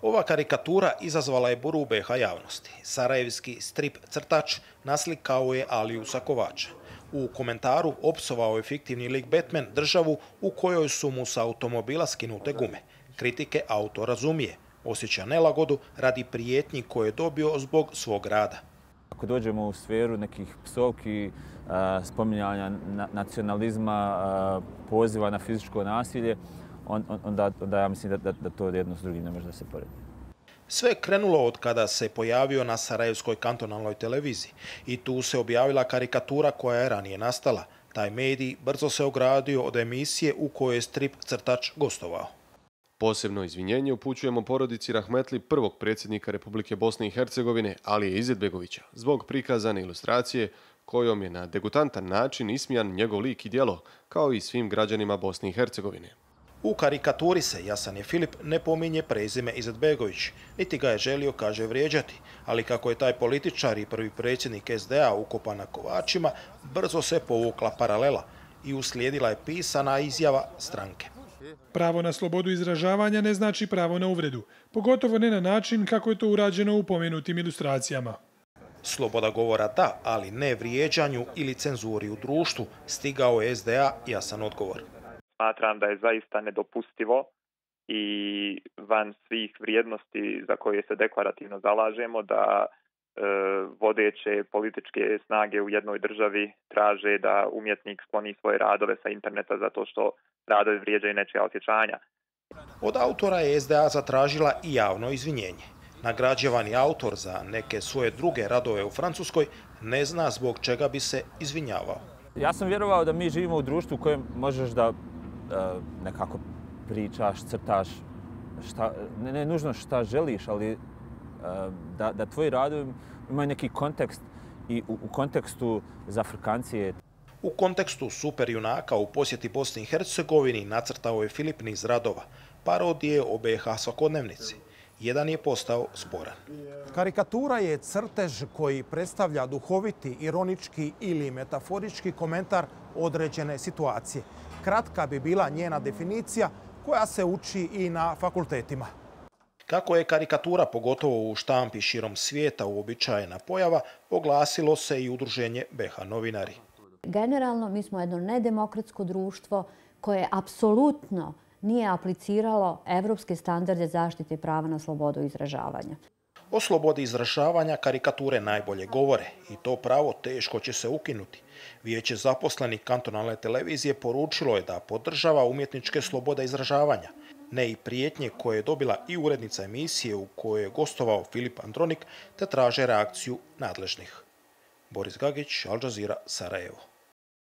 Ova karikatura izazvala je buru u BiH javnosti. Sarajevski strip crtač naslikao je Aliju Sakovača. U komentaru opsovao je fiktivni lik Batman državu u kojoj su mu sa automobila skinute gume. Kritike autor razumije, osjeća nelagodu radi prijetnji koje je dobio zbog svog rada. Ako dođemo u sferu nekih psovki, spominjanja nacionalizma, poziva na fizičko nasilje, onda ja mislim da to jedno s drugim ne može da se poredi. Sve je krenulo od kada se pojavio na Sarajevskoj kantonalnoj televiziji i tu se objavila karikatura koja je ranije nastala. Taj medij brzo se ogradio od emisije u kojoj je strip crtač gostovao. Posebno izvinjenje upućujemo porodici Rahmetli, prvog predsjednika Republike Bosne i Hercegovine, Alije Izetbegovića, zbog prikazane ilustracije kojom je na degutantan način ismijan njegov lik i djelo, kao i svim građanima Bosne i Hercegovine. U karikaturi se Jasan je Filip ne pominje prezime Izetbegović, niti ga je želio, kaže, vrijeđati, ali kako je taj političar i prvi predsjednik SDA ukopan na kovačima, brzo se povukla paralela i uslijedila je pisana izjava stranke. Pravo na slobodu izražavanja ne znači pravo na uvredu, pogotovo ne na način kako je to urađeno u pomenutim ilustracijama. Sloboda govora da, ali ne vrijeđanju ili cenzuri u društvu, stigao je SDA jasan odgovor. Smatram da je zaista nedopustivo i van svih vrijednosti za koje se deklarativno zalažemo da vodeće političke snage u jednoj državi traže da umjetnik skloni svoje radove sa interneta zato što radovi vrijeđaju nečija osjećanja. Od autora je SDA zatražila i javno izvinjenje. Nagrađivani autor za neke svoje druge radove u Francuskoj ne zna zbog čega bi se izvinjavao. Ja sam vjerovao da mi živimo u društvu u kojem možeš da nekako pričaš, crtaš, ne nužno šta želiš, ali da tvoji radovi imaju neki kontekst i u kontekstu za Afrikancije. U kontekstu superjunaka u posjeti Bosni i Hercegovini nacrtao je Filip niz radova, parodije o BiH svakodnevnici. Jedan je postao sporan. Karikatura je crtež koji predstavlja duhoviti, ironički ili metaforički komentar određene situacije. Kratka bi bila njena definicija koja se uči i na fakultetima. Kako je karikatura, pogotovo u štampi širom svijeta, uobičajena pojava, oglasilo se i udruženje BiH novinari. Generalno, mi smo jedno nedemokratsko društvo koje apsolutno nije apliciralo evropske standarde zaštite prava na slobodu izražavanja. O slobodi izražavanja karikature najbolje govore i to pravo teško će se ukinuti. Vijeće zaposlenih kantonalne televizije poručilo je da podržava umjetničke slobode izražavanja, ne i prijetnje koje je dobila i urednica emisije u kojoj je gostovao Filip Andronik, te traže reakciju nadležnih. Boris Gagić, Al Jazeera, Sarajevo.